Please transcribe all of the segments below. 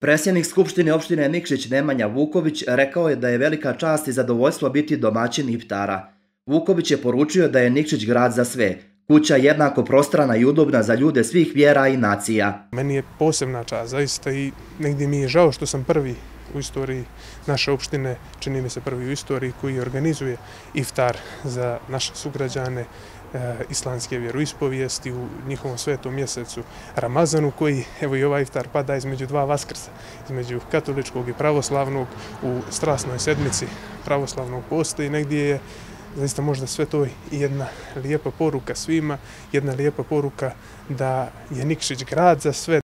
Predsjednik Skupštine opštine Nikšić Nemanja Vuković rekao je da je velika čast i zadovoljstvo biti domaćin iftara. Vuković je poručio da je Nikšić grad za sve, kuća jednako prostrana i udobna za ljude svih vjera i nacija. Meni je posebna čast, zaista, i negdje mi je žao što sam prvi u istoriji naše opštine, čini mi se prvi u istoriji, koji organizuje iftar za naše sugrađane islamske vjeroispovijesti u njihovom svetom mjesecu Ramazanu, koji, evo i ovaj iftar pada između dva vaskrsa, između katoličkog i pravoslavnog u strasnoj sedmici pravoslavnog posta, i negdje je zaista možda sve to i jedna lijepa poruka svima, jedna lijepa poruka da je Nikšić grad za sve.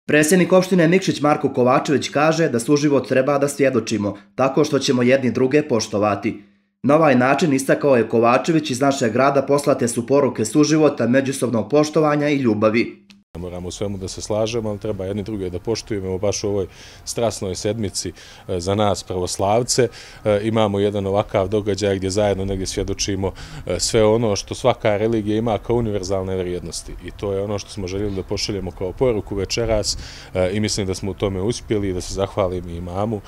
Predsjednik opštine Nikšić Marko Kovačević kaže da suživot treba da svjedočimo, tako što ćemo jedni druge poštovati. Na ovaj način, istakao je Kovačević, iz našeg grada poslate su poruke suživota, međusobnog poštovanja i ljubavi. Moramo u svemu da se slažemo, ali treba jedni druge da poštujemo. Baš u ovoj strasnoj sedmici za nas pravoslavce imamo jedan ovakav događaj gdje zajedno negdje svjedočimo sve ono što svaka religija ima kao univerzalne vrijednosti. I to je ono što smo željeli da pošaljemo kao poruku večeras, i mislim da smo u tome uspjeli, i da se zahvalim i imamu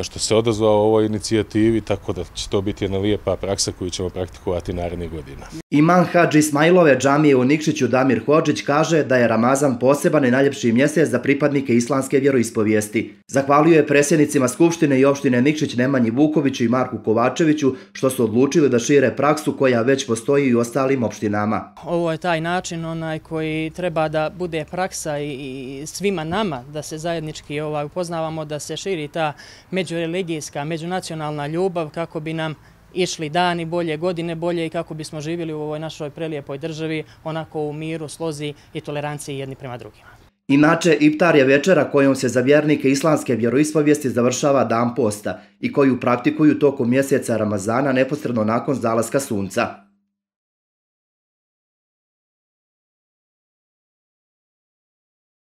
što se odazvao ovoj inicijativi, tako da će to biti jedna lijepa praksa koju ćemo praktikovati narednih godina. Imam Hadži Ismailove džamije u Nikšiću Damir Hodžić kaže da je Ramazan poseban i najljepši mjesec za pripadnike islamske vjeroispovijesti. Zahvalio je predsjednicima Skupštine i opštine Nikšić Nemanji Vukoviću i Marku Kovačeviću što su odlučili da šire praksu koja već postoji i u ostalim opštinama. Ovo je taj način koji treba da bude praksa i svima nama, da se zajednički upoznavamo, da se širi ta međureligijska, međunacionalna ljubav, kako bi nam išli dani bolje, godine bolje, i kako bismo živjeli u ovoj našoj prelijepoj državi onako u miru, slozi i toleranciji jedni prema drugima. Inače, iftar je večera kojom se za vjernike islamske vjeroispovijesti završava dan posta i koju praktikuju tokom mjeseca Ramazana neposredno nakon zalaska sunca.